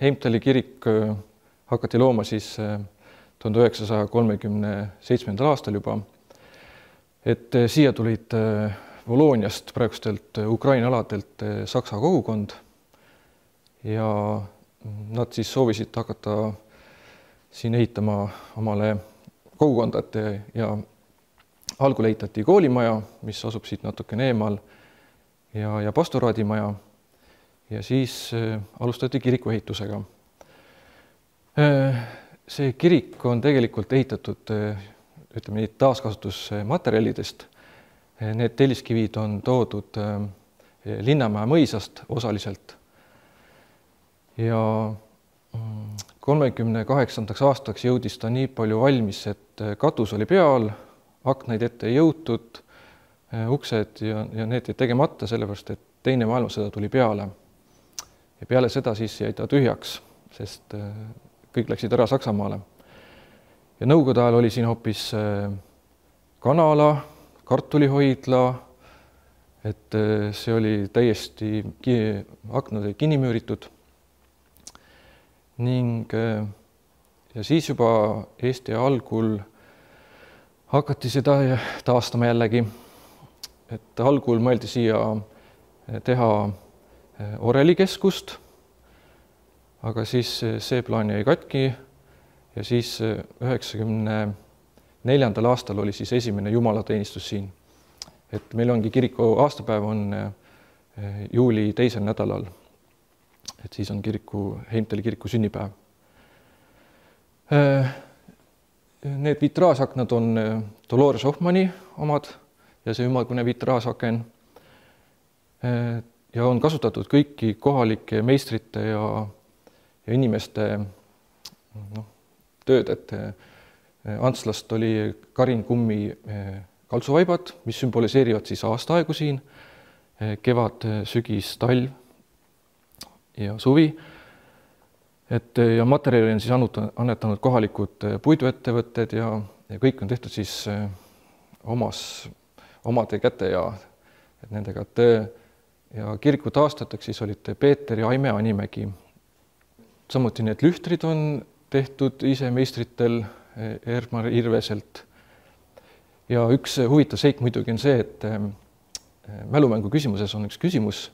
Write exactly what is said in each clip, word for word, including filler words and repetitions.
Heimtali kirik hakati looma siis tuhande üheksasaja kolmekümne seitsmendal aastal juba, et siia tulid Volooniast praegustelt Ukraina aladelt saksa kogukond ja nad siis soovisid hakata siin ehitama omale kogukondat ja algul ehitati koolimaja, mis asub siit natukene eemal ja, ja pastoraadimaja ja siis alustati kiriku ehitusega. See kirik on tegelikult ehitatud ütleme nii taaskasutusmaterjalidest. Need telliskivid on toodud Linnamäe mõisast osaliselt ja kolmekümne kaheksandaks aastaks jõudis ta nii palju valmis, et katus oli peal, aknaid ette ei jõutud, uksed ja, ja need jäid tegemata, sellepärast et teine maailmasõda tuli peale. Ja peale seda siis jäi ta tühjaks, sest kõik läksid ära Saksamaale. Ja nõukogude ajal oli siin hoopis kanala, kartulihoidla, et see oli täiesti aknad kinni müüritud. Ning ja siis juba Eesti algul hakati seda taastama jällegi, et algul mõeldi siia teha orelikeskust, aga siis see plaan jäi katki ja siis üheksakümne neljandal aastal oli siis esimene jumalateenistus siin. Et meil ongi kiriku aastapäev on juuli teisel nädalal. Et siis on kiriku, Heimtali kiriku sünnipäev. Need vitraažaknad on Dolores Hoffmanni omad ja see ümmargune vitraažaken. Ja on kasutatud kõiki kohalike meistrite ja, ja inimeste no, tööd, et Antslast oli Karin Kummi kaltsuvaibad, mis sümboliseerivad siis aastaaegu siin, kevad, sügis, talv ja suvi. Et, ja materjali on siis annetanud kohalikud puiduettevõtted ja, ja kõik on tehtud siis omas, omade käte ja et nendega töö. Ja kiriku taastataks siis olid Peeter ja Aime Animägi. Samuti need lühtrid on tehtud ise meistritel Ermar Irveselt. Ja üks huvitav seik muidugi on see, et mälumängu küsimuses on üks küsimus,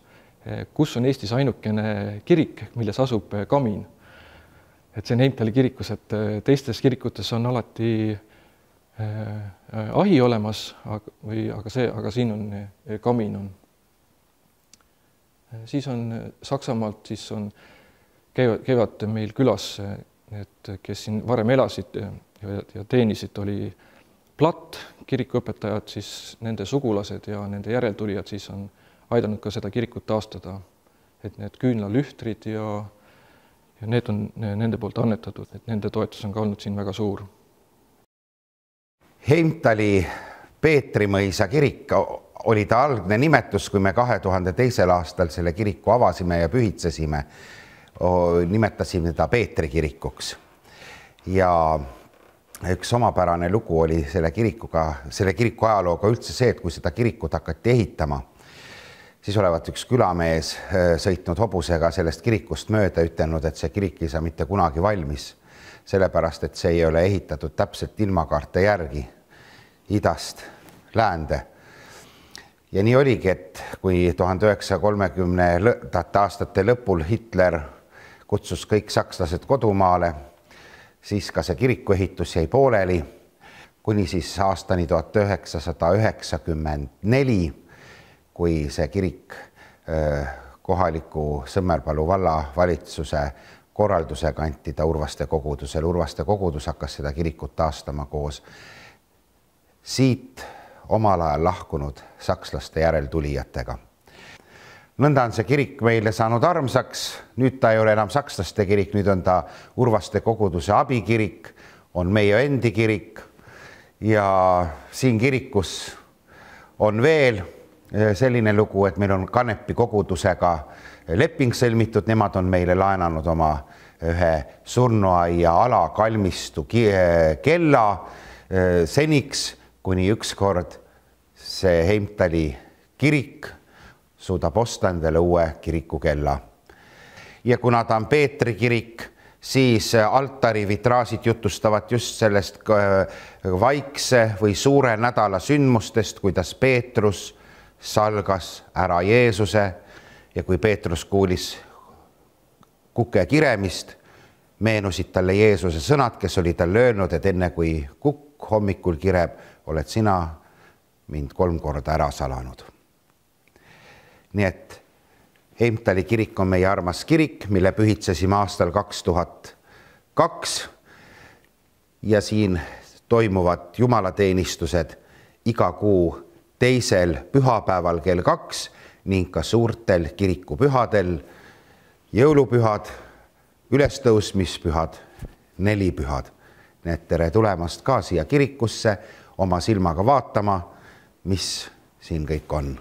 kus on Eestis ainukene kirik, milles asub kamin. Et see on Heimtali kirikus, et teistes kirikutes on alati ahi olemas, või, aga, see, aga siin on kamin on. Siis on Saksamaalt, siis on, käivad, käivad meil külas, et kes siin varem elasid ja, ja teenisid, oli Platt, kirikuõpetajad, siis nende sugulased ja nende järeltulijad siis on aidanud ka seda kirikut taastada. Et need küünlalühtrid ja, ja need on nende poolt annetatud, et nende toetus on ka olnud siin väga suur. Heimtali Peetrimõisa kirik oli ta algne nimetus, kui me kahe tuhande teisel aastal selle kiriku avasime ja pühitsesime, nimetasime ta Peetri kirikuks. Ja üks omapärane lugu oli selle kirikuga, selle kiriku ajalooga üldse see, et kui seda kirikut hakati ehitama, siis olevat üks külamees sõitnud hobusega sellest kirikust mööda, ütelnud, et see kirik ei saa mitte kunagi valmis, sellepärast, et see ei ole ehitatud täpselt ilmakaarte järgi idast läände. Ja nii oligi, et kui tuhande üheksasaja kolmekümnendate aastate lõpul Hitler kutsus kõik sakslased kodumaale, siis ka see kiriku ehitus jäi pooleli, kuni siis aastani tuhat üheksasada üheksakümmend neli, kui see kirik kohaliku Sõmmerpalu valla valitsuse korraldusega anti ta Urvaste kogudusel. Urvaste kogudus hakkas seda kirikut taastama koos siit omal ajal lahkunud sakslaste järeltulijatega. Nõnda on see kirik meile saanud armsaks, nüüd ta ei ole enam sakslaste kirik, nüüd on ta Urvaste koguduse abikirik, on meie endi kirik ja siin kirikus on veel selline lugu, et meil on Kanepi kogudusega leping sõlmitud, nemad on meile laenanud oma ühe surnuaia alakalmistu kella seniks, kuni ükskord see Heimtali kirik suudab osta endale uue kirikukella. ja kuna ta on Peetri kirik, siis altari vitraasid jutustavad just sellest vaikse või suure nädala sündmustest, kuidas Peetrus salgas ära Jeesuse ja kui Peetrus kuulis kuke kiremist, meenusid talle Jeesuse sõnad, kes oli talle öelnud, et enne kui kukk hommikul kireb, oled sina mind kolm korda ära salanud. Nii et Heimtali kirik on meie armas kirik, mille pühitsesime aastal kaks tuhat kaks ja siin toimuvad jumalateenistused iga kuu teisel pühapäeval kell kaks ning ka suurtel kirikupühadel, jõulupühad, ülestõusmispühad, nelipühad. Nii et tere tulemast ka siia kirikusse oma silmaga vaatama, mis siin kõik on.